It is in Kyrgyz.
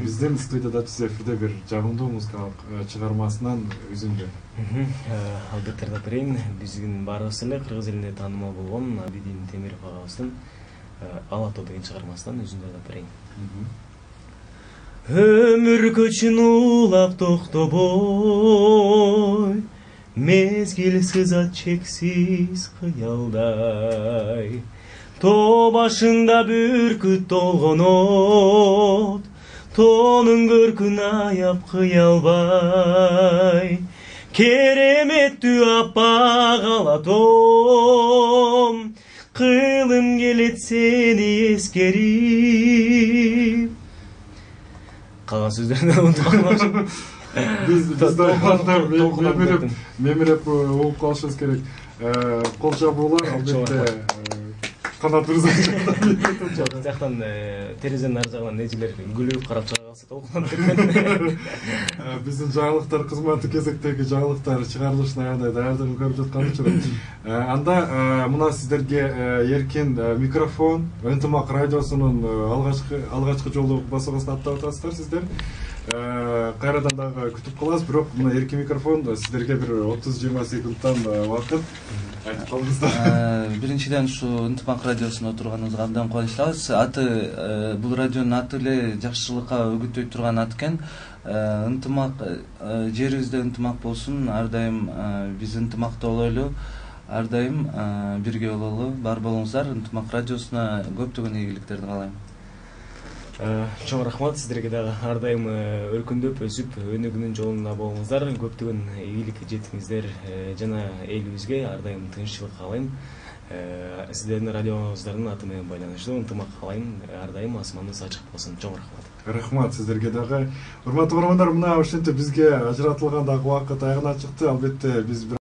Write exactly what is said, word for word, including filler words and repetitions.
биздин студияда түз эфирде бир жагымдуу музыкалык чыгармасынан үзүндү. Албетте ырдап берейин. Биздин баарыбыз эле кыргыз элинде таанымал болгон Абидин Темиров агабыздын Ала тоо деген чыгармасынан үзүндү ырдап берейин. Өмүр көчүн улап токтобой, мезгил сызат чексиз кыялдай. Тоо башында бүркүт толгон от, тоонун көркүн аяп кыялбай. Кереметтүү аппак ала тоом, кылым келет сени эскерип. Калган сөздөрүн унутуп калмакчымын. Биз мемиреп мемиреп угуп калышыбыз керек. Кол жабуулар албетте канат ырза. Жактан терезенин ар жагынан нежелер күлүп карап чыга калса толкунат деп. Биздин жаңылыктар кызматы кезектеги жаңылыктар чыгарылышына аябай даярдыгын көрүп жаткан учур. Анда мына сиздерге эркин микрофон Ынтымак радиосунун алгачкы алгачкы жолу басылгысын аттап атасыздар сиздер. Кайрадан дагы күтүп калабыз, бирок мына эркин микрофон сиздерге бир отуз жыйырма секундтан убакыт айтып калыңыздар. Биринчиден ушу Ынтымак радиосунда отурганыбызга абдан кубанычтабыз. Аты бул радионун аты эле жакшылыкка үгүттөй турган ат экен. Ынтымак жерибизде ынтымак болсун, ар дайым биз ынтымакта бололу, ар дайым бирге бололу. Бар болуңуздар. Ынтымак радиосуна көптөгөн ийгиликтерди каалайм. Чоң рахмат, сиздерге дагы ар дайым өркүндөп өсүп өнүгүүнүн жолунда болуңуздар, көптөгөн ийгилик жетиңиздер жана элибизге ар дайым тынччылык каалайм. Сиздердин радиоңуздардын аты менен байланыштуу ынтымак каалайм, ар дайым асманыбыз ачык болсун. Чоң рахмат. Рахмат сиздерге дагы. Урматтуу көрөрмандар, мына ошентип бизге ажыратылган дагы убакыт аягына чыкты. Албетте биз бир